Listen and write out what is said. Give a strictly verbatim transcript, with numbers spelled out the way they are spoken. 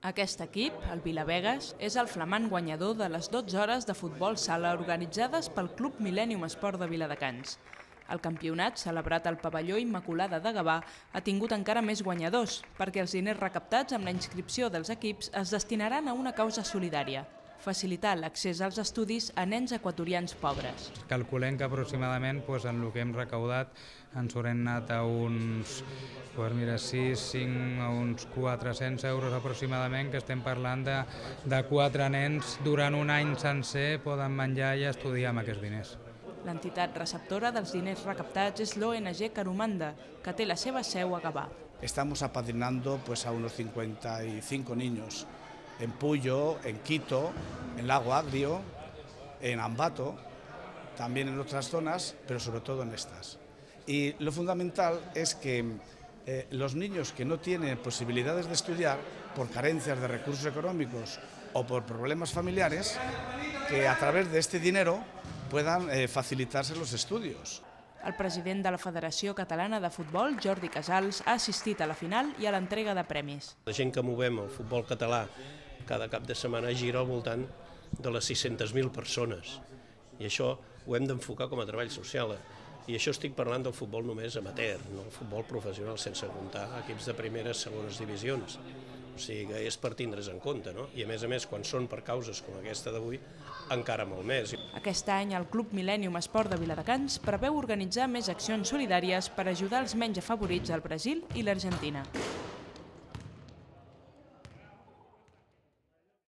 Aquest equip, el Vilavegas, és el flamant guanyador de les dotze hores de futbol sala organitzades pel Club Millennium Esport de Viladecans. El campionat, celebrat al pavelló Immaculada de Gavà, ha tingut encara més guanyadors, perquè els diners recaptats amb la inscripció dels equips es destinaran a una causa solidària: facilitar l'accés als estudis a nens equatorians pobres. Calculem que aproximadament doncs, en el que hem recaudat ens haurem anat a uns doncs, mira, sis, cinc, a uns quatre-cents euros aproximadament, que estem parlant de, de quatre nens durant un any sencer poden menjar i estudiar amb aquests diners. L'entitat receptora dels diners recaptats és l'O N G Carumanda, que té la seva seu a Gavà. Estamos apadrinando pues, a unos cincuenta y cinco niños en Puyo, en Quito, en Lago Agrio, en Ambato, también en otras zonas, pero sobre todo en estas. Y lo fundamental es que eh, los niños que no tienen posibilidades de estudiar por carencias de recursos económicos o por problemas familiares, que a través de este dinero puedan eh, facilitarse los estudios. El president de la Federació Catalana de Futbol, Jordi Casals, ha assistit a la final i a l'entrega de premis. La gent que movem el futbol català cada cap de setmana gira al voltant de les sis-centes mil persones. I això ho hem d'enfocar com a treball social. I això estic parlant del futbol només amateur, no el futbol professional, sense comptar equips de primeres, segones divisions. O sigui que és per tindre's en compte, no? I a més a més, quan són per causes com aquesta d'avui, encara molt més. Aquest any el Club Millennium Esport de Viladecans preveu organitzar més accions solidàries per ajudar els menys afavorits al Brasil i l'Argentina.